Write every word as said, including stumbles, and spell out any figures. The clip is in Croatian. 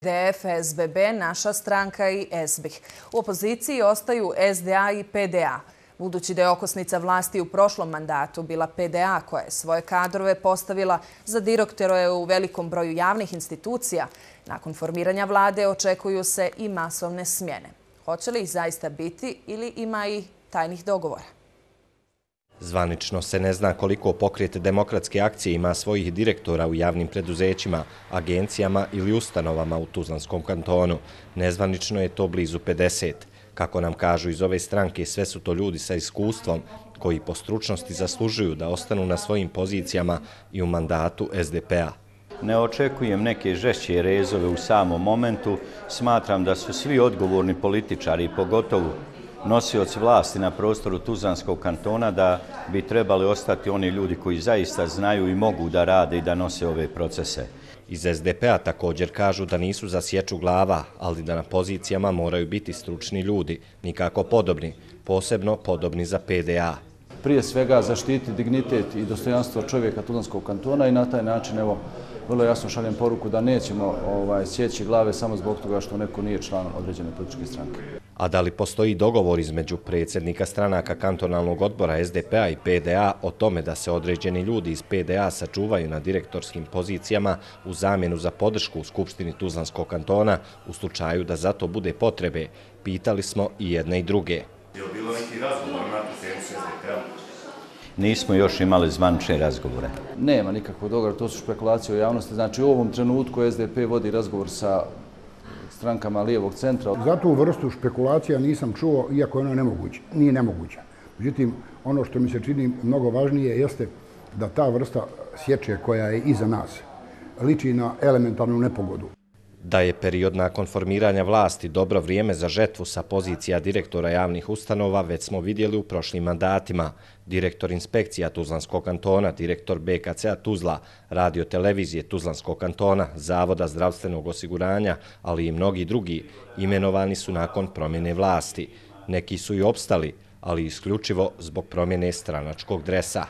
D F, S B B, Naša stranka i S B I H. U opoziciji ostaju S D A i P D A. Budući da je okosnica vlasti u prošlom mandatu bila P D A koja je svoje kadrove postavila za direktore u velikom broju javnih institucija, nakon formiranja vlade očekuju se i masovne smjene. Hoće li ih zaista biti ili ima i tajnih dogovora? Zvanično se ne zna koliko pokret Demokratske akcije ima svojih direktora u javnim preduzećima, agencijama ili ustanovama u Tuzlanskom kantonu. Nezvanično je to blizu pedeset. Kako nam kažu iz ove stranke, sve su to ljudi sa iskustvom koji po stručnosti zaslužuju da ostanu na svojim pozicijama i u mandatu S D P-a. Ne očekujem neke žešće rezove u samom momentu. Smatram da su svi odgovorni političari, pogotovo nosioci vlasti na prostoru Tuzlanskog kantona, da bi trebali ostati oni ljudi koji zaista znaju i mogu da rade i da nose ove procese. Iz S D P-a također kažu da nisu za sječu glava, ali da na pozicijama moraju biti stručni ljudi, nikako podobni, posebno podobni za P D A. Prije svega zaštiti dignitet i dostojanstvo čovjeka Tuzlanskog kantona i na taj način, evo, vrlo jasno šaljem poruku da nećemo ovaj, sjeći glave samo zbog toga što neko nije član određene političke stranke. A da li postoji dogovor između predsjednika stranaka kantonalnog odbora S D P-a i P D A o tome da se određeni ljudi iz P D A sačuvaju na direktorskim pozicijama u zamjenu za podršku u Skupštini Tuzlanskog kantona u slučaju da za to bude potrebe? Pitali smo i jedne i druge. Je li bilo neki razgovor na tu temu s S D P-om? Nismo još imali zvanične razgovore. Nema nikakvog dogovora, to su špekulacije u javnosti. Znači u ovom trenutku S D P vodi razgovor sa strankama lijevog centra. Za tu vrstu špekulacija nisam čuo, iako je ona nemoguća. Nije nemoguća. Međutim, ono što mi se čini mnogo važnije jeste da ta vrsta sječe koja je iza nas liči na elementarnu nepogodu. Da je period nakon formiranja vlasti dobro vrijeme za žetvu sa pozicija direktora javnih ustanova već smo vidjeli u prošlim mandatima. Direktor inspekcija Tuzlanskog kantona, direktor B K C-a Tuzla, radio televizije Tuzlanskog kantona, Zavoda zdravstvenog osiguranja, ali i mnogi drugi imenovani su nakon promjene vlasti. Neki su i opstali, ali isključivo zbog promjene stranačkog dresa.